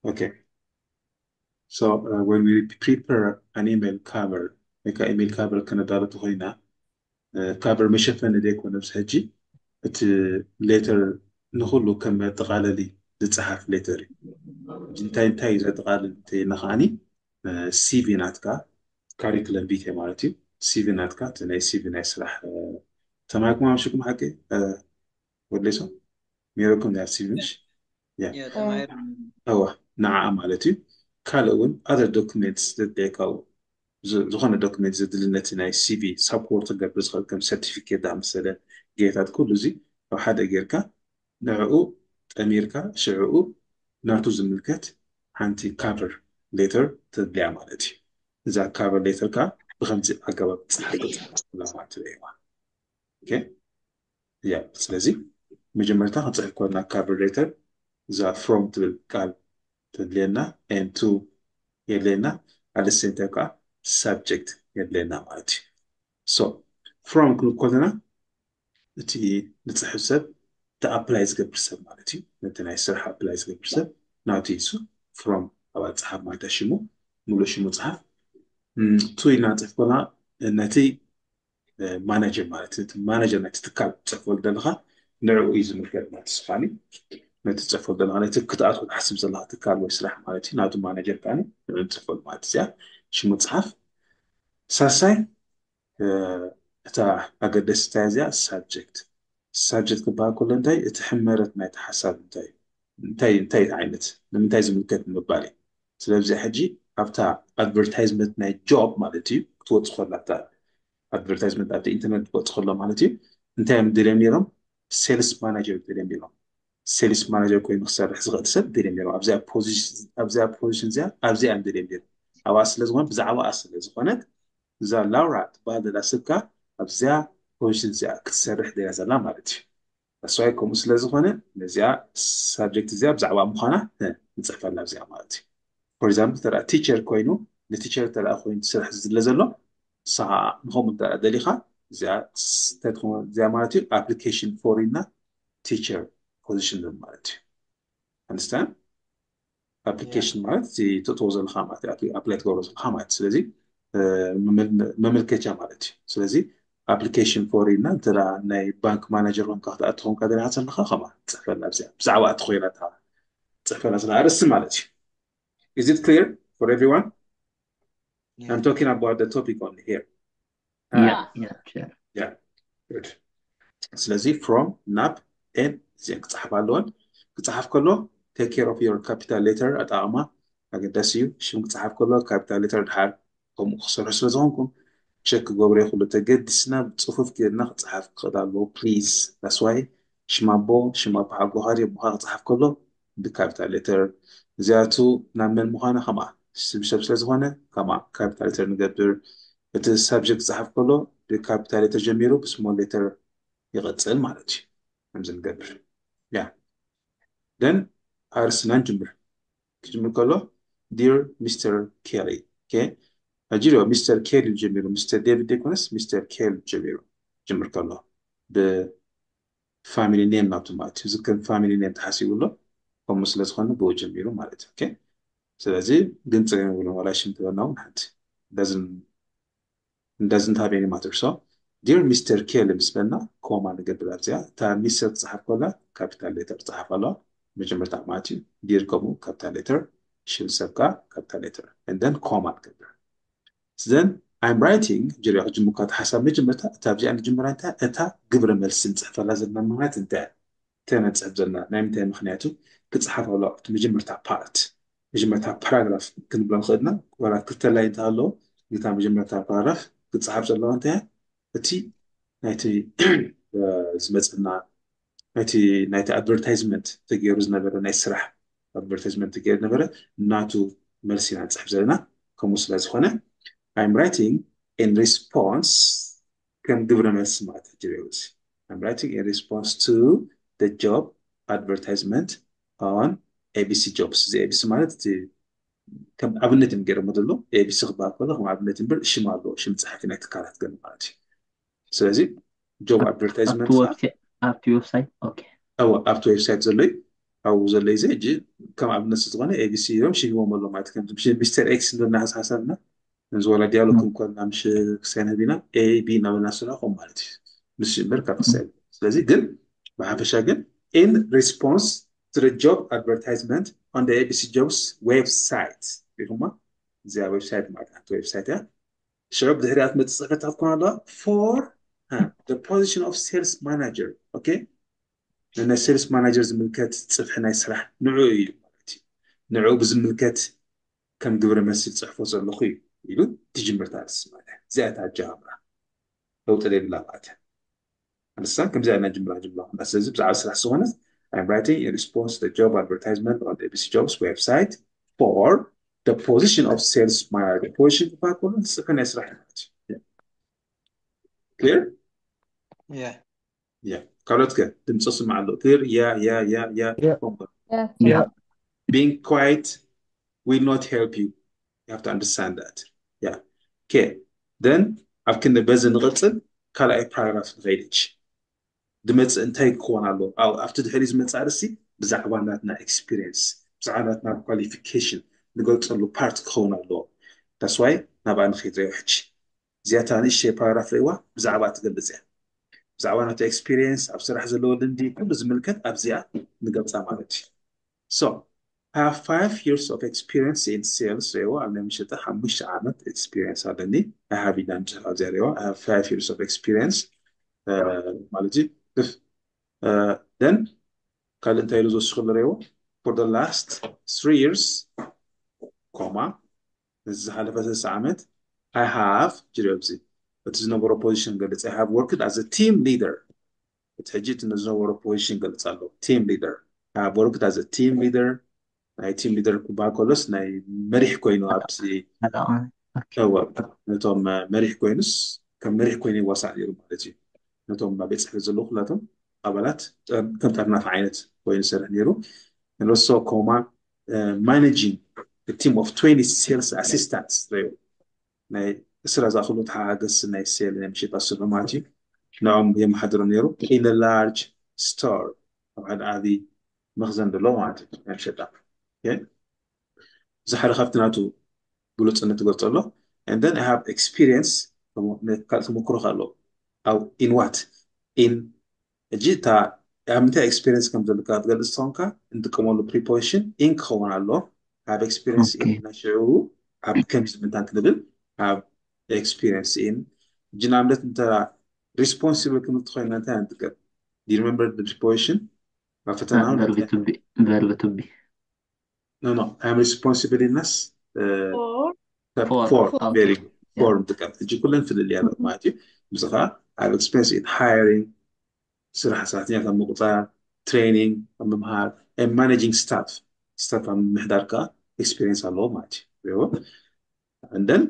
Okay. So uh, when we prepare an email cover, like an email cover ከነዳሎ ተኾይና cover መሸፈኒ ዘይኮነ ብስ ሕጂ እቲ letter ንኩሉ ከም መጠቓለሊ ዝፀሓፍ letter እዩ። እንታይ እንታይ እዩ ዘጠቓልል እንተይልና ከዓኒ CV ናትካ፣ curriculum vitae ማለት እዩ። CV ናትካ እቲ ናይ CV ናይ ስራሕ ተማሂርኩም ኣምሽኩም ሓቂ ወድሌሶ ሜሮኩም ናይ CV ምሽ እዋ ንዓ ማለት እዩ። ካልእ እውን other documents ዘድልየካ ዝኾነ document ዘድሊ ነቲ ናይ CV support ክገብር ዝኽእል ከም certificate ዝኣመሰለ ጌታት ኩሉ እዚ ኣብ ሓደ ጌርካ ንዕኡ ጠሚርካ ሽዕኡ ናቱ ዝምልከት ሓንቲ cover letter ተድልያ ማለት እዩ። እዛ cover letter ካ ብከምዚ ኣገባብ ፅሓፍ ማለት ትበይዋ። ያ ስለዚ መጀመርታ ክንፅሕፍ ኮና cover letter እዛ from ትብል ቃል ተድልየና and to የድልየና፣ at the same time ከዓ subject የድልየና ማለት እዩ። So from ክንብል ከለና እቲ ንፅሕፍ ሰብ እቲ apply ዝገብር ሰብ ማለት እዩ። ነቲ ናይ ስራሕ apply ዝገብር ሰብ ናቱ ይሱ from ኣብ ኣፅሓፍ ማለት ሽሙ ሙሉእ ሽሙ ፅሓፍ። To ኢልና ንፅሕፍ ኮና ነቲ manager ማለት እዩ። እቲ manager ናይቲ ትካል ትፅሕፈሉ ዘለኻ ንዕኡ እዩ ዝምልከት ማለት ስኻኒ ነቲ ትፅሕፈሉ ዘለኻ ነቲ ክትኣትዎ ትሓስብ ዘለኻ ትካል ወይ ስራሕ ማለት እዩ። ናቱ manager ከዓ ንዕኡ ንፅሕፈሉ ማለት እዚኣ ሽሙ ፅሓፍ። ሳልሳይ እታ ኣገደስቲ እንታይ እዚኣ subject። Subject ክበሃል ከሎ እንታይ እቲ ሕመረት ናይቲ ሓሳብ እንታይ እንታይ እንታይ ዓይነት ንምንታይ ዝምልከት ንምባል እዩ። ስለዚ ሕጂ ኣብታ advertisement ናይ job ማለት እዩ ክትወፅእ ከላ ኣብታ advertisement ኣብቲ ኢንተርነት ክትወፅእ ከሎ ማለት እዩ እንታይ እዮም ደልዮም ነይሮም? Sales manager ደልዮም ነይሮም። Sales manager ኮይኑ ክሰርሕ ዝኽእል ሰብ ደልዮም ነይሮም ኣብዚኣ position እዚኣ ኣብዚኣ እዮም ደልዮም ነይሮም። ኣብኣ ስለ ዝኾነ ብዛዕባኣ ስለ ዝኾነት እዛ ላውራ ትበሃል ዘላ ሰብ ከኣ ኣብዚኣ position እዚኣ ክትሰርሕ ደልያ ዘላ ማለት እዩ። እሷይ ከምኡ ስለ ዝኾነ ነዚኣ subject እዚኣ ብዛዕባ ምዃና ንፅሕፈላ ኣብዚኣ ማለት እዩ። For example ተራ teacher ኮይኑ ን teacher ተራ ኮይኑ ስራሕ ዝድለ ዘሎ ንስኻ ንኸምኡ እንተ ደሊኻ እዚኣ እንታይ ትኸውን እዚኣ ማለት እዩ application for ኢልና teacher position ማለት እዩ። Understand? Application ማለት እቲ ትእትዎ ዘለኻ ማለት እዩ። Apply ትገብሮ ዘለኻ ማለት እዩ። ስለዚ መመልከቻ ማለት እዩ። ስለዚ application for ኢልና እንተ ናይ bank manager ኮንካ ክትኣቱ ኮንካ ደሊኻ ዘለኻ ከማ ትፅሕፈላ ኣብዚኣ ብዛዕባ እቲ ኮይና እታ ትፅሕፈላ ዘላ ኣርእስቲ ማለት እዩ። Is it clear for everyone? I'm talking about the topic only here. Yeah, yeah, sure. Yeah, good. ስለዚ from ናብ and እዚአን ክፅሓፍ ኣለወን። ክፅሓፍ ከሎ take care of your capital letter ኣጠቓቕማ ኣገዳሲ እዩ። ሽም ክፅሓፍ ከሎ capital letter ድሓር ከምኡ ክሰርሑ ስለ ዝኾንኩም ቸክ ክገብሮ ይኽእሉ። ተገዲስና ብፅፉፍ ጌርና ክፅሓፍ ክኽእል ኣለዎ please። That's why ሽም ኣቦ ሽም ኣቦ ሓጎኻ ድዩ ኣቦኻ ክፅሓፍ ከሎ ብ capital letter እዚኣቱ ናብ መን ምዃና ከምኣ ስም ሰብ ስለ ዝኾነ ከምኣ capital letter ንገብር። እቲ subject ክፅሓፍ ከሎ ብ capital letter ጀሚሩ ብ small letter ይቐፅል ማለት እዩ። ከምዚ ንገብር ያ then ኣርስና ንጅምር። ክጅምር ከሎ dear Mister Kelly okay ሕጂ ዶ Mister Kelly ጀሚሩ Mister David ዘይኮነስ Mister Kelly ጀሚሩ ጅምር ከሎ ብ family name ናቱ ማለት እዩ። ዝከም family name ተሓሲቡ ኣሎ ከምኡ ስለ ዝኾነ ብኡ ጀሚሩ ማለት እዩ። Okay ስለዚ ግን ፀገም የብሉን ዋላ ሽም ትበልና እውን ሓንቲ doesn't have any matter። So dear Mister Kelly ምስ በልና ኮማ ንገብር ኣብዚኣ እታ ሚስተር ትፅሓፍ ከላ capital letter ትፅሓፍ ኣለዋ መጀመርታ ማለት እዩ። Dear ከምኡ capital letter ሽም ሰብ ከዓ capital letter and then ኮማ ንገብር። Then I'm writing ጅሪያ ክጅምር ካብ ሓሳብ መጀመርታ እታ ኣብዚኣ ንጅምራ እንታይ እታ ግብረ መልሲ ንፅሕፈላ ዘለና ምኽንያት እንታይ እያ? እንታይ ንፅሕፍ ዘለና ናይ ምንታይ ምኽንያቱ ክፅሓፍ ኣሎ ኣብቲ መጀመርታ part መጀመርታ paragraph ክንብሎ ንኽእልና ዋላ ክልተ line እንተሃለዎ ነታ መጀመርታ paragraph ክፅሓፍ ዘለዋ እንታይ እያ? እቲ ናይቲ ዝመፀና ናይቲ ናይቲ advertisement ተገይሩ ዝነበረ ናይ ስራሕ advertisement ተገይሩ ዝነበረ ናቱ መልሲ ኢና ንፅሕፍ ዘለና። ከምኡ ስለ ዝኾነ I'm writing in response ከም ግብረ መልሲ ማለት እዩ። I'm writing in response to the job advertisement on ABC Jobs። እዚ ABC ማለት እቲ ከም ኣብነት እዮም ገይሮሞ ዘሎ። ABC ክበሃል ከሎ ከም ኣብነት እምበር ሽም ኣለዎ፣ ሽም ጸሓፊ ናይ ትካላት ገለ ማለት እዩ። ስለዚ job advertisement ኣብቲ website okay ኣብቲ website ዘሎ እዩ። ኣብኡ ዘሎ እዩ ሕጂ ከም ኣብነት ዝኾነ ኤቢሲ እዮም ሽሂቦም ኣሎ ማለት ከም ሚስተር ኤክስ እንድና ሓሳብና እዚ ወላ ዲያሎግ ክንኮና ምሽ ክሳይ ነቢና ኤ ቢ እናበልና ስራኾም ማለት እዩ ምስ እምበር ካብ ክሳይ ስለዚ ግን ብሓፈሻ ግን in response to the job advertisement on the A B C Jobs website ሪኹማ እዚኣ ዌብሳይት ማለት ሓንቲ ዌብሳይት እያ ሽዑ ብድሕሪኣ ትመፅእ ፅሕፈት ክትኮን ኣለዋ for the position of sales manager okay ንናይ sales manager ዝምልከት ፅፍሒ ናይ ስራሕ ንዑ እዩ ማለት እዩ ንዑ ብዝምልከት ከም ግብረ መልሲ ዝፅሕፎ ዘለኹ እዩ ኢሉ ትጅምር ታርስ ማለት እዚኣ እታ ኣጀማምራ ለውጢ ዘይብላ ማለት እያ ንሳ ከምዚኣ ኢና ጅምራ ጅምራ ኩና ስለዚ ብዛዕባ ስራሕ ዝኾነት I'm writing in response to the job advertisement on the A B C Jobs website for the position of sales manager position ክበሃል ከሎ ንፅፍሒ ናይ ስራሕ ማለት እዩ clear Yeah. yeah ካልኦት ከ ድምፂ ስማዕ ኣሎ clear yeah yeah yeah yeah Yeah. Come on. Yeah. Being quiet will not help you. You have to understand that. Yeah. Okay. Then ኣብ ክንዲ በዚ ንቕፅል ካልኣይ ፓራግራፍ ንኸይድ ሕጂ ድመፅእ እንታይ ክኸውን ኣለዎ ኣብቲ ድሕሪ ዝመፅእ ኣርእስቲ ብዛዕባ ናትና experience ብዛዕባ ናትና qualification ንገልፀሉ part ክኸውን ኣለዎ that's why ናብኣ ንኸይድ ሪኦ ሕጂ እዚኣታ ንእሽተይ ፓራግራፍ ርእዋ ብዛዕባ ትገልፅ እያ ብዛዕባ ናቱ experience ኣብ ስራሕ ዘለዎ ልምዲ ኩሉ ዝምልከት ኣብዚኣ ንገልፃ ማለት እዩ so I have five years of experience in sales ሪእዋ ኣብ ናይ መሸጣ ሓሙሽተ ዓመት experience ኣለኒ I have ኢላ ንፅሑፍ ኣብዚኣ ሪእዋ I have five years of experience ማለት እዩ then ካልእ እንታይ ኢሉ ዝወስኽሉ ሪእዎ for the last three years ኮማ ነዚ ዝሓለፈ ሰለስተ ዓመት I have ጅሪኦ ኣብዚ እቲ ዝነበሮ position ገልፅ I have worked as a team leader እቲ ሕጂ እቲ ዝነበሮ position ገልፅ ኣሎ team leader I have worked as a team leader ናይ team leader ክበሃል ከሎስ ናይ መሪሕ ኮይኑ ኣብዚ ነቶም መሪሕ ኮይኑስ ከም መሪሕ ኮይኑ ይዋሳእ ነይሩ ማለት እዩ ነቶም ቤት ፅሕፈት ዘለዉ ኩላቶም ኣባላት ከም ጠርናፊ ዓይነት ኮይኑ ዝሰርሕ ነይሩ ንሶ ኮማ managing team of twenty sales assistants ሪኡ ናይ እስራ ዝኣኽሉ ተሓጋገዝቲ ናይ ሴል ናይ ምሸጣ ስርሑ ማለት እዩ ንኦም የመሓድሮም ነይሩ in a large store ኣብ ሓደ ዓብዪ መኽዘን ዘሎ ማለት እዩ ናይ ምሸጣ እዚ ሓደ ካብቲ ናቱ ብሉፅነት ትገልፆ ኣሎ and then I have experience ካልእ ተመክሮ ኣሎ ኣብ in what in ሕጂ እታ ኣብ ምንታይ experience ከም ዘለካ ክትገልፅ ተኾንካ እንጥቀመሉ preposition in ክኸውን ኣሎ have experience in ናይ ሽዑ ኣብ ከምዚ ምንታን ክንብል have experience in ሕጂ ንኣብነት እንተ responsible ክንብል ተኮይና እንታይ ንጥቀም do you remember the preposition ኣብ ፈተና verb to be no no I'm responsible ኢልናስ Four. for very for ንጥቀም ሕጂ ኩለን ፍልልያ ማለት እዩ እዚ ከዓ ኣብ experience in hiring ስራሕ ሰራሕተኛታት ምቁፃር training ኣብ ምምሃር managing staff staff ኣብ ምምሕዳር ከዓ experience ኣለዎ ማለት እዩ and then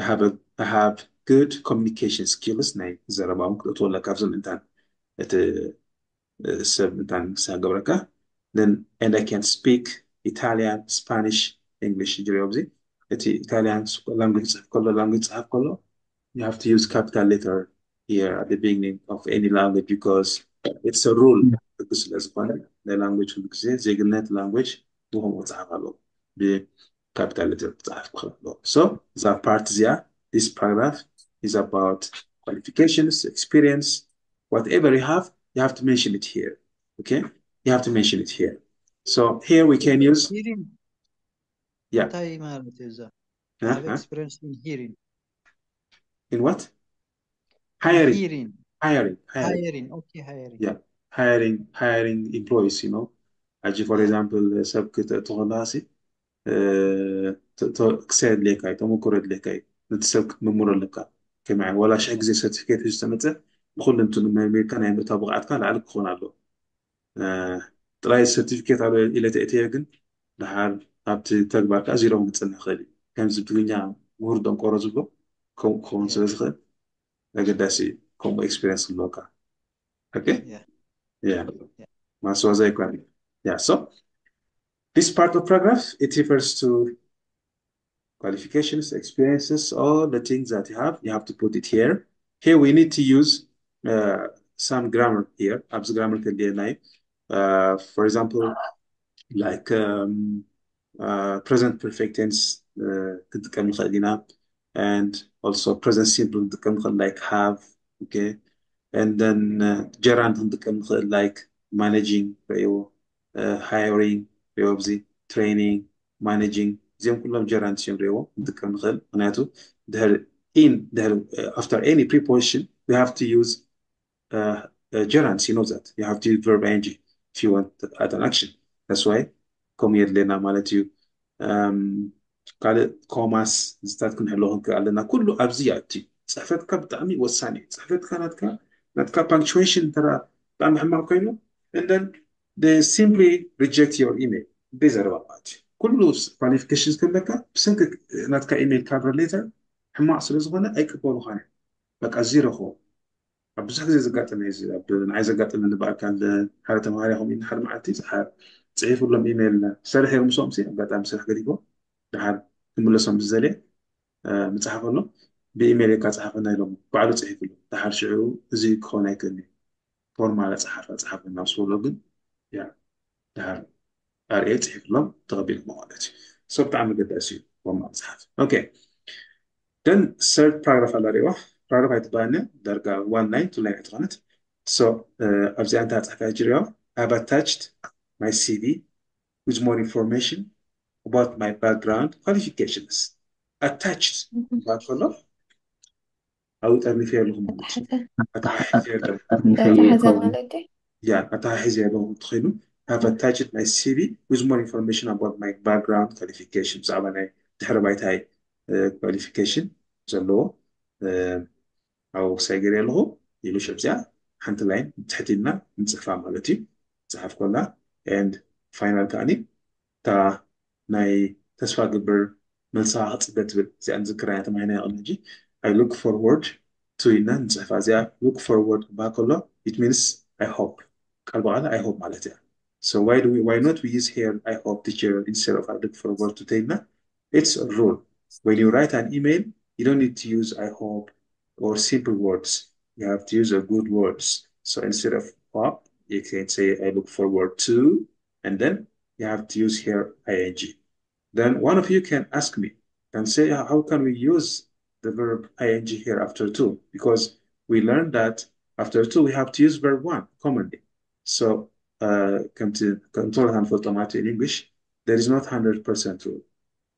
I have, a, I have good communication skills ናይ ዘረባ እውን ክእትወለካ ኣብዚ ምእንታን እቲ ሰብ ምእንታን ክሳገብረካ then and I can speak Italian Spanish English ጅሪዮ ኣብዚ እቲ Italian language ፅሕፍ ከሎ language ፅሓፍ ከሎ you have to use capital letter here at the beginning of any language because it's a rule ሕጊ ስለ ዝኾነ ናይ language ኩሉ ግዜ ዜግነት language ብከምኡ ክፅሓፍ ኣለዎ ብ capital letter ክፅሓፍ ክኽእል ኣለዎ so እዛ part እዚኣ this paragraph is about qualifications experience whatever you have you have to mention it here okay you have to mention it here so here we can use hearing yeah እንታይ ማለት እዩ እዛ huh? have experience in hearing in what hiring hearing hiring hiring hiring okay hiring Yeah. hiring hiring employees you know ሕጂ for example ሰብ ክትእትኸለሲ ክሰ የድልየካ እዩ ተመክሮ የድልየካ እዩ ነቲ ሰብ ክትምምሮ ኣለካ ከመይ ዓይነት ዋላ ሽሕ ግዜ certificate ሒዙ ዝተመፀ ብኩሉ እንቱ ንመርሚርካ ናይ ምእታው ብቕዓትካ ላዕሊ ክኾን ኣለዎ ጥራይ certificate ኣሎ ኢለ ተእትየ ግን ድሓር ኣብቲ ተግባር ከዓ ዚሮ ክፅንሕ ይኽእል እዩ ከምዚ ትግርኛ ምሁር ደንቆሮ ዝብሎ ከምኡ ክኸውን ስለ ዝኽእል ኣገዳሲ እዩ ከምኡ experience ክህልወካ okay Yeah. yeah ማስዋዛ ይኮን yeah so this part of paragraph it refers to qualifications experiences all the things that you have you have to put it here here we need to use uh, some grammar here ኣብዚ grammar ከድልየና እዩ uh, for example like um, uh, present perfect tense uh, ክንጥቀም ንኽእል ኢና and also present simple ክንጥቀም ንኽእል like have okay and then uh, gerund ክንጥቀም ንኽእል like managing ርእይዎ uh, hiring ርእይዎ ኣብዚ training managing እዚኦም ኩሎም gerunds እዮም ርእይዎ ክንጥቀም ንኽእል ምክንያቱ ድሕር in ድሕር uh, after any preposition we have to use uh, uh, gerunds you know that you have to use verb ing if you want to add an action that's why ኮም የድልየና ማለት እዩ ካልእ ኮማስ ዝታት ክንሕሎ ክንክእል ኣለና ኩሉ ኣብዚ ይኣቲ እዩ ፅሕፈትካ ብጣዕሚ ወሳኒ እዩ ፅሕፈትካ ናትካ ናትካ punctuation እንተ ብጣዕሚ ሕማቅ ኮይኑ and then they simply reject your email ብዘረባ ማለት እዩ ኩሉ qualifications ከለካ ብሰንኪ ናትካ email cover letter ሕማቅ ስለዝኾነ ኣይቅበሉኻን እዮም በቃ ዚሮ ክኾን ኣብ ብዙሕ ግዜ ዘጋጠመ እዩ ኣብ ንዓይ ዘጋጠመኒ ብኣካል ሓደ ተምሃሪ ከምኡ ሓደ መዓልቲ ፅሒፉሎም ኢሜይል ሰርሕ እዮም ምስኦም ኣጋጣሚ ስራሕ ገዲፎም ድሓር ክምለሶም ዝዘልየ ምፅሓፈሎም ብኢሜይል እካ ፅሓፈና ኢሎም ባዕሉ ፅሒፍሉ ድሓር ሽዑ እዚ ክኸውን ኣይክእልን እዩ ፎርማል ኣፅሓፍ ኣፅሓፈና ምስ በሎ ግን ድሓር ኣርእየ ፅሒፍሎም ተቐቢልኩሞ ማለት እዩ so ብጣዕሚ ገዳሲ እዩ ፎርማል ፅሓፍ okay then third paragraph ኣላ ሪዋ paragraph ኣይትበሃልኒ ዳርጋ one line two line ኣይትኾነት so ኣብዚኣ እንታይ ኣፅሕፋ ጅሪዮ have attached my cv with more information about my background qualifications attached ባል ከሎ ኣብኡ ጠርኒፈ ኣለኹ ማለት እዩ ኣተሓሒዘ ኣለኹ እንተኾይኑ have attached my cv with more information about my background qualification ብዛዕባ ናይ ድሕሪ ባይታይ qualification ዘለዎ ኣብኡ ክሳይ ገይረ ኣለኹ ኢሉ ሽዕዚኣ ሓንቲ ላይን ትሕቲልና ንፅሕፋ ማለት እዩ ፅሓፍ ኮላ and final ከዓኒ እታ ናይ ተስፋ ግብር መልሳ ክፅበ ትብል እዚኣ ንዝክራ እያ ተማሂና ይቕድሚ ሕጂ I look forward to ኢልና ንፅሕፋ እዚኣ look forward ክበሃል ከሎ it means I hope ቃል ብቃል I hope ማለት እያ so why do we why not we use here I hope teacher instead of I look forward to ተይልና it's a rule when you write an email you don't need to use I hope or simple words you have to use a good words so instead of hope you can say I look forward to and then you have to use here ing then one of you can ask me and say how can we use the verb ing here after to because we learned that after to we have to use verb one commonly so ከምቲ ከምቶሎ ንፈልጦ ማለት in English there is not hundred percent rule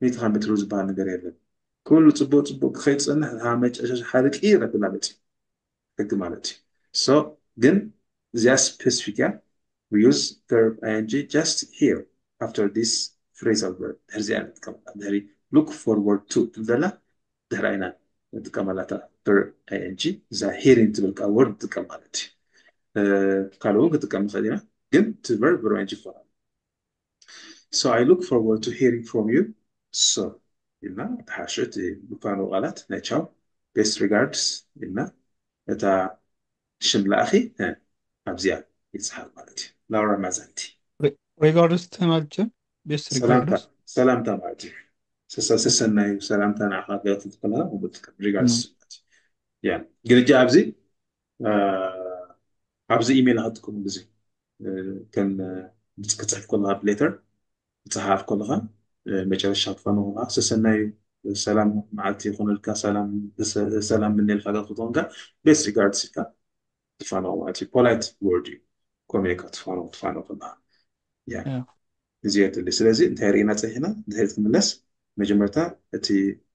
ሚእቲ ካብ ሚእቲ rule ዝበሃል ነገር የለን ኩሉ ፅቡቅ ፅቡቅ ክኸይድ ዝፀንሕ መጨረሻ ሓደ ቅይር ኣገላለፂ ሕጊ ማለት እዩ so ግን እዚኣ specific እያ we use verb ing just here after this phrasal verb ድሕሪ እዚኣ ንጥቀመላ ድሕሪ look forward to ትብል ዘላ ድሕራ ኢና ንጥቀመላ እታ verb ing እዛ hearing ትብል ቃል word ንጥቀም ማለት እዩ ካልእ እውን ክጥቀም ንኽእል ኢና ግን እቲ verb verb ing ይኮና so I look forward to hearing from you so ኢልና ተሓሸ እቲ ምፋነው ቃላት ናይ ቻው best regards ኢልና እታ ሽም ለኣኺ ኣብዚኣ ይፅሓፍ ማለት እዩ ላውራ ማዛንቲ regards ማለት እዩ best regards ሰላምታ ማለት እዩ ሰሰናዩ ሰላምታ ንዓኻ ገለት ትከላ regards ማለት እዩ ግን እጂ ኣብዚ ኣብዚ ኢሜይል ክትጥቀሙ ግዜ ከም ክፅሕፍ ከለካ ብ letter ክፅሓፍ ከለካ መጨረሻ ክፋኖ ከለካ ሰሰናዩ ሰላም መዓልቲ ይኮነልካ ሰላም ምነልካ ገ ክትኮንካ best regards ኢልካ ትፋኖ ማለት እዩ polite word እዩ ከመይ ኢልካ ትፋኖ ትፋኖ ከለካ እዚ የድሊ ስለዚ እንታይ ርኢና ፀኒሕና ድሕሪት ክምለስ መጀመርታ እቲ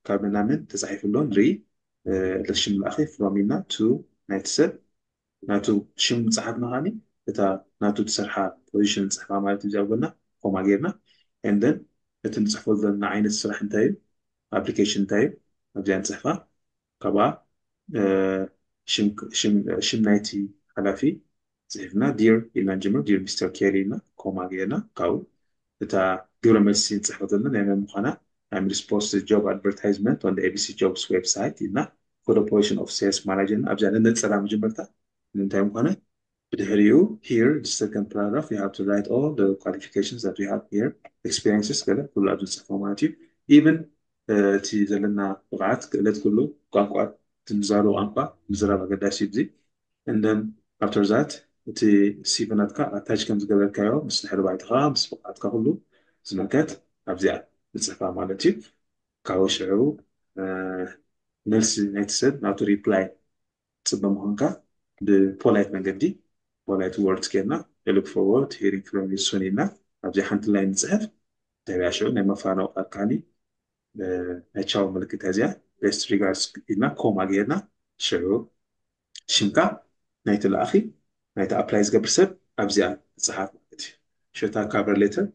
ካብ ምናምን ተፃሒፍሎ ንርኢ ለሽም ለኣኺ from ኢልና to ናይቲ ሰብ ናቱ ሽም ምፅሓፍና ከዓኒ እታ ናቱ ትሰርሓ position ንፅሕፋ ማለት እዩ እዚኣ ጎና ኮማ ጌርና and then እቲ ንፅሕፈሉ ዘለና ዓይነት ስራሕ እንታይ እዩ application እንታይ እዩ ኣብዚኣ ንፅሕፋ ካብኣ ሽም ናይቲ ሓላፊ ፅሒፍና dear ኢልና ንጀምር dear Mister Kelly ኢልና ኮማ ጌርና ካብኡ እታ ግብረ መልሲ ንፅሕፈ ዘለና ናይ መን ምዃና I'm response to job advertisement on the A B C Jobs website ኢልና for the position of sales manager ኣብዚኣ ንነፀላ መጀመርታ ንምንታይ ምዃነ ብድሕሪኡ here the second paragraph you have to write all the qualifications that we have here experiences ገለ ኩሉ ኣብ ዝፅሕፎ ማለት እዩ even እቲ ዘለና ብቕዓት ክእለት ኩሉ ቋንቋ ትምዛሩ ቋንቋ ምዝራብ ኣገዳሲ እዩ and then after that እቲ ሲቪ ናትካ ኣታች ከም ዝገበርካዮ ምስ ድሕሪ ባይታኻ ምስ ብቕዓትካ ኩሉ ዝምልከት ኣብዚኣ ንፅሕፋ ማለት እዩ። ካብኡ ሽዑ መልሲ ናይቲ ሰብ ናቱ ሪፕላይ ፅበ ምዃንካ ብፖላይት መንገዲ ፖላይት ወርድስ ጌርና I look forward hearing from you soon ኢልና ኣብዚ ሓንቲ ላይን ንፅሕፍ። ተቢያ ሽዑ ናይ መፋነው ቃል ካኒ ናይ ቻው ምልክት እዚኣ ቤስት ሪጋርድስ ኢልና ኮማ ጌርና ሽዑ ሽምካ ናይቲ ለኣኺ ናይቲ ኣፕላይ ዝገብር ሰብ ኣብዚኣ ትፅሓፍ ማለት እዩ። ሽታ ካቨር ሌተር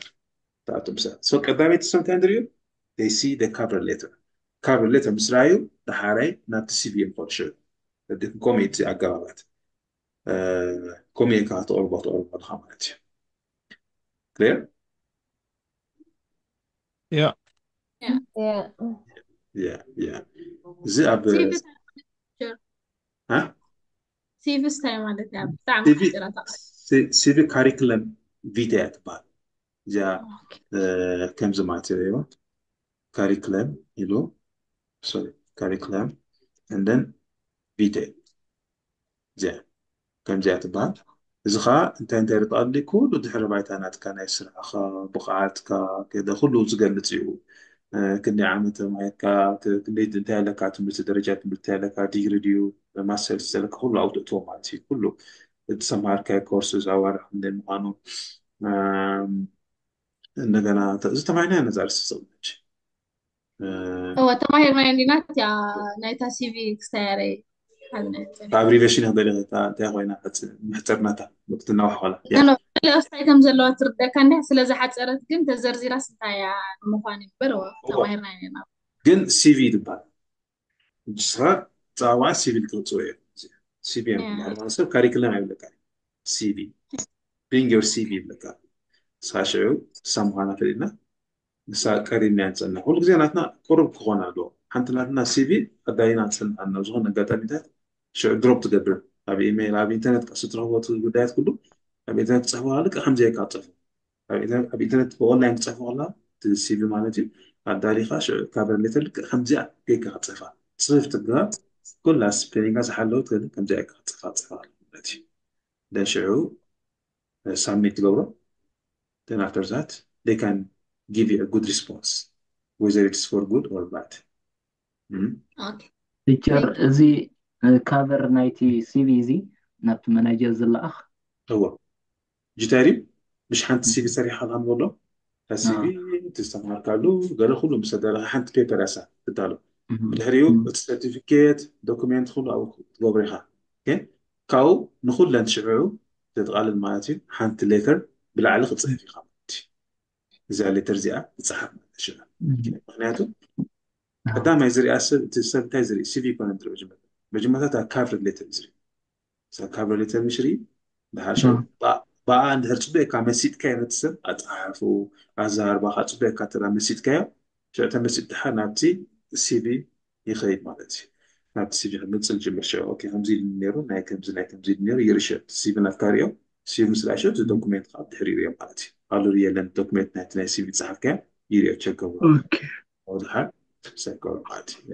ተኣቱ ምሳ so ቀዳመይቲ ሰብ እንታይ ንሪኦ they see the cover letter cover letter ምስ ረኣዩ ደሓራይ ናብቲ ሲቪ እዮም ከዱ ሽዑ ከምኡ እቲ ኣገባባት ከምኡ ኢልካ ክትቕርቦ ትቕርቦ ኣለካ ማለት እዩ። ክሊር Yeah. Yeah. Yeah, yeah. እዚ ኣብ ሲቪ አ? ሲቪ እንታይ ማለት እያ? ብጣዕሚ ሲቪ ሓፂራ ተቓ- ሲ- ሲቪ ካሪክለም ቪተ እያ ትበሃል። እዚኣ ኦኬ። እ፣ ከምዚ ማለት እዩ። ካሪክለም ኢሉ ሶሪ ካሪክለም and then ቪተ እዚኣ ከምዚኣ ትበሃል። እዚ ከዓ እንታይ እንታይ የጠቓልል? ኩሉ ድሕሪ ባይታ ናትካ ናይ ስራሕኻ ብቕዓትካ ገለ ኩሉ ዝገልፅ እዩ። እ፣ ክንደይ ዓመት ተማሂርካ ክ- ክንደይ እንታይ ኣለካ ትምህርቲ ደረጃ ትምህርቲ ኣለካ ዲግሪ ድዩ ማስተርስ ዘለካ ኩሉ ኣብኡ ትእትዎ ማለት እዩ። ኩሉ እተማሃርካዮ ኮርስ ኣዋርሕ ክንደይ ምዃኑ እም፣ እንደገና ተ- እዚ ተማሂርና ነዛ ርእሲ ዝቕመጭ እወ ተማሂርና እንዲና እቲያ ናይታ ሲቪ ክስተያረ ኣብሪቬሽን ይኽደል እንታይ ኮይና ሕፅ- ምሕፅርናታ ክትናዋሕ ኮላ ኖ ኖ ገለ ኣስታይ ከም ዘለዋ ትርደካ እንዲያ ስለ ዝሓፀረት ግን ተዘርዚራስ እንታይ እያ ንምዃን እዩ እምበር እወ ተማሂርና ኢና ግን ሲቪ ትበሃል ንስኻ ፃዋዓ ሲቪል ክትፅዎ እየ ሲቪ እዮም Yeah. ትበሃል ማለት ሰብ ካሪክለም ኣይብለካ ሲቪ bring your ሲቪ ይብለካ ንስኻ ሽዑ ንሳ ምዃና ፈሊጥና ንሳ ቀሪብና ንፀንሕ ኩሉ ግዜ ናትና ቅሩብ ክኾን ኣለዎ ሓንቲ ናትና ሲቪ ኣዳሊና ንፀንሕ ኣለና ዝኾነ ኣጋጣሚታት ሽዑ ድሮፕ ትገብር ኣብ ኢሜይል ኣብ ኢንተርኔት ቀስ ትረኽቦ እቲ ጉዳያት ኩሉ ኣብ ኢንተርኔት ትፅሕፎ ልክዕ ከምዚ ኢልካ ትፅሕፎ ኣብ ኢንተርኔት- ኣብ ኢንተርኔት ብኦንላይን ትፅሕፎ ከላ እቲ ሲቪ ማለት እዩ ኣዳሊኻ ሽዑ ካቨር ሌተር ልክዕ ከምዚኣ ጌርካ ክትፅሕፋ ፅፍፍ ትግባር ኩላ ስፔሊንጋ ዝሓለወት ግን ከምዚኣ ኢልካ ክትፅሕፋ ትፅሕፋ ማለት እዩ then ሽዑ ሳብሚት ትገብሮ then after that they can give you a good response whether it's for good or bad ኦኬ ቲቸር Thank you. እዚ ካቨር ናይቲ ሲቪ እዚ ናብቲ መናጀር ዝለኣኽ እዎ ጅታሪ ምሽ ሓንቲ ሲቪ ሰሪሓ ካን በሎ ሲቪ ትስተማሃርካሉ ገለ ኩሉ ምስ ኣዳለኻ ሓንቲ ፔፐር ያሳ ትዳሎ ብድሕሪኡ እቲ ሰርቲፊኬት ዶኩሜንት ኩሉ ኣብኡ ትገብሮ ኢኻ ካብኡ ንኩለን ሽዑ ዘጠቓልል ማለት እዩ ሓንቲ ሌተር ብላዕሊ ክፅሕፍ ኢኻ ማለት እዩ እዚኣ ሌተር እዚኣ ትፅሓፍ ማለት እዩ ሽዑ ምክንያቱ ቀዳማይ ዝሪኣ ሰብ እቲ ሰብ እንታይ ዝርኢ ሲቪ ይኮነ ዝርኢ መጀመርታ መጀመርታ እታ ካቨር ሌተር ዝርኢ እዛ ካቨር ሌተር ምሽ ርኢ ድሓር ሽዑ ብኣ እንድሕር ፅቡቅካ መሲጥካዮ ነቲ ሰብ ኣፀሓሕፉ ኣዘራርባኻ ፅቡቅካ ተራ መሲጥካዮ ሽዑ ተመሲጥ ድሓር ናብቲ ሲቪ ይኸይድ ማለት እዩ ናብቲ ሲቪ ክምፅል ጅምር ሽዑ ኦኬ ከምዚ ኢሉ ነይሩ ናይ ከምዚ ናይ ከምዚ ኢሉ ነይሩ ይርኢ ሽዑ ሲቪ ናትካ ሪኦ ሲቪ ምስ ርኣ ሽዑ እቲ ዶኩሜንት ከዓ ድሕሪ ይሪኦ ማለት እዩ ኣሉ የለን ዶኩሜንት ናይቲ ናይ ሲቪ ዝፀሓፍካዮ ይሪኦ ቸገቡ ድሓር ሳይኮ ማለት እዩ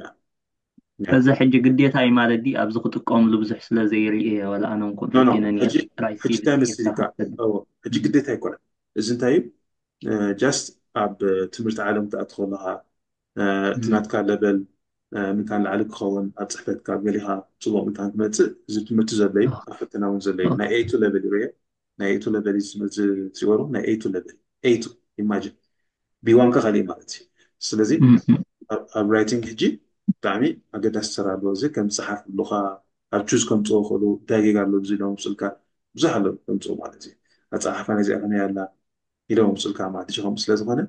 እዚ ሕጂ ግዴታ እዩ ማለት ድዩ ኣብዚ ክጥቀምሉ ብዙሕ ስለ ዘይርኢ ወላ ኣነ እንኩን ኖ ኖ ፈቲነ ሕጂ ጥራይ ሕጂ እንታይ መስልካ ሕጂ ግዴታ ኣይኮነን እዚ እንታይ እዩ ጃስት ኣብ ትምህርቲ ዓለም ትኣቲ ከለካ እቲ ናትካ ለበል ምንታን ላዕሊ ክኸውን ኣብ ፅሕፈትካ ገሊካ ፅቡቅ ምንታን ክመፅእ እዚ ትምህርቲ ዘሎ እዩ ኣብ ፈተና እውን ዘሎ እዩ ናይ ኤቱ ለበል ይርዮ ናይ ኤቱ ለበል እዩ ዝወሩ ናይ ኤቱ ለበል ኤቱ ኢማጂን ቢዋንካ ካልእ ማለት እዩ ስለዚ ኣብ ራይቲንግ ሕጂ ብጣዕሚ ኣገዳሲ ስራ ኣለዎ እዚ ከም ፀሓፍ ብሉካ ኣብ ቹዝ ከምፅኦ ክእሉ እንታይ ጌጋ ኣሎ እዚ ኢሎም ስልካ ብዙሕ ኣሎ ከምፅኡ ማለት እዩ ኣፀሓሓፋ ነዚኣ ከመይ ኣላ ኢሎም ስልካ ማለት እዩ ከምኡ ስለዝኮነ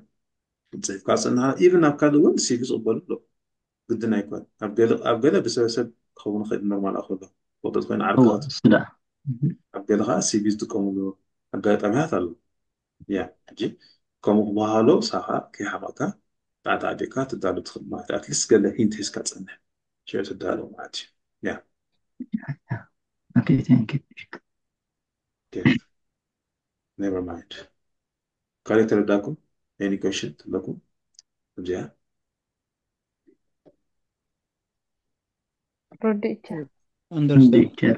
ፅሒፍካ ፅንሃ ኢቭን ኣብ ካልእ እውን ሲቪ ዝቕበሉ ኣሎ ግድን ኣይኮን ኣብ ገለ ብሰበሰብ ክኸውን ይኽእል ኖርማል ኣክሎ ወቅት ኮይኑ ዓርክት ኣብ ገለ ከዓ ሲቪ ዝጥቀምሉ ኣጋጣሚታት ኣሎ ያ ሕጂ ከምኡ ክበሃሎ ሳኻ ከይሓመቕካ ጣዕጣዕ ቢልካ ትዳሉ ትኽእል ማለት ኣትሊስት ገለ ሂንት ሒዝካ ፀንሕ ሽዑ ትዳሎ ማለት እዩ ያ Okay, thank you. Okay. Never mind. ካልእ ተረዳኩም? Any question ኣለኩም? እዚኣ ርድእቻ Understand. Teacher.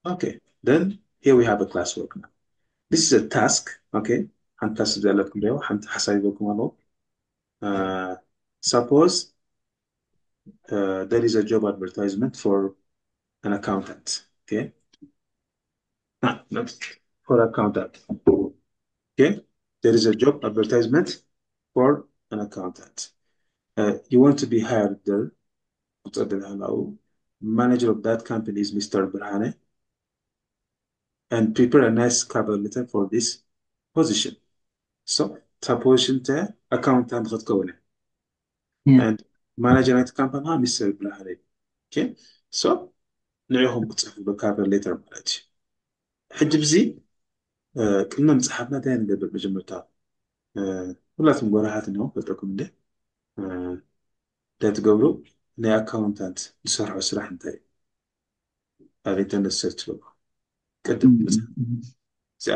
Okay. Then Here we have a classwork now. This is a task. Okay, ሓንቲ ታስክ ዘለኩም ዶ ሓንቲ ሓሳብ ይበኩም ኣለዎ። Suppose uh, there is a job advertisement for an accountant. Okay, for accountant. Okay, there is a job advertisement for an accountant. Uh, you want to be hired there. Manager of that company is Mister Brahane. And prepare a nice cover letter for this position. So, position ተ accountant ክትከውን እያ። And manager ናይቲ ካምፓኒ ሚስተር ብርሃነ እዩ። Okay? So ንዕኹም ክትፅሕፉ cover letter ማለት እዩ። ሕጂ ብዚ ቅድሚ ምፅሓፍና እንታይ ንገብር? መጀመርታ ሁላትም ጎራሃት ነው ፈልጠኩም እንደ እንታይ ትገብሩ? ናይ ኣካውንታንት ዝሰርሖ ስራሕ እንታይ እዩ? ኣብ ኢንተርነት ሰርች በሉ። ቅድም እዚኣ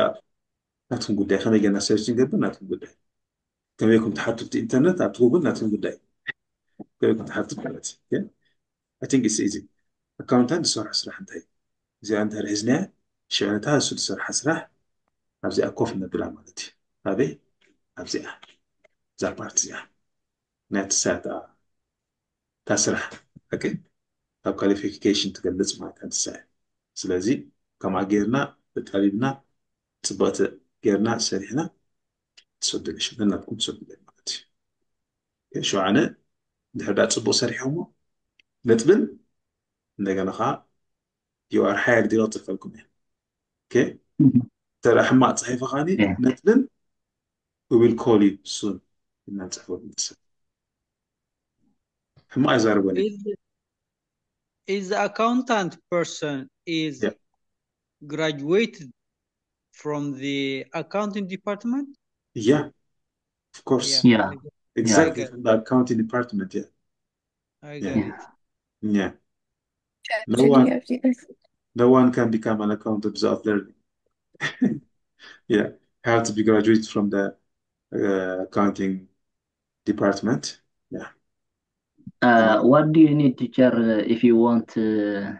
ናትኩም ጉዳይ ከመይ ገና ሰርች ንገብር ናትኩም ጉዳይ ከመይኩም ትሓቱ እቲ ኢንተርነት ኣብቲ ጉግል ናትኩም ጉዳይ ከመይኩም ትሓቱ ማለት እዩ። I think it's easy. ኣካውንታንት ዝሰርሖ ስራሕ እንታይ እዩ? እዚኣ እንተ ርሒዝናያ ሽዕነታ እሱ ዝሰርሓ ስራሕ ኣብዚኣ ኮፍ ነብላ ማለት እዩ። ኣበይ? ኣብዚኣ እዛ ፓርት እዚኣ ናይ ትሳያ እታ ስራሕ ካብ ኳሊፊኬሽን ትገልፅ ማለት እያ ትሳያ። ስለዚ ከምኣ ጌርና ተጣቢብና ፅብቕቲ ጌርና ሰሪሕና ትሰዱ ሽመናትኩም ትሰዱ ማለት እዩ። ሸውዓነ እንድሕር ዳ ፅቡቅ ሰሪሖሞ ነጥብን እንደገና ከዓ you are hired ኢሎ ፅፈልኩም እየ። ተራ ሕማቅ ፅሒፈ ከዓኒ ነጥብን we will call you soon እና ንፅሕፈሉ ንትሰብ ሕማቅ ኣይዛረበኒ Is the accountant person is graduated from the accounting department? Yeah, of course. Yeah. Exactly, from the accounting department, yeah. I got it. Yeah. No one, no one can become an accountant without learning. Yeah, have to be graduated from the uh, accounting department. Yeah. Uh, what do you need, teacher, uh, if you want uh,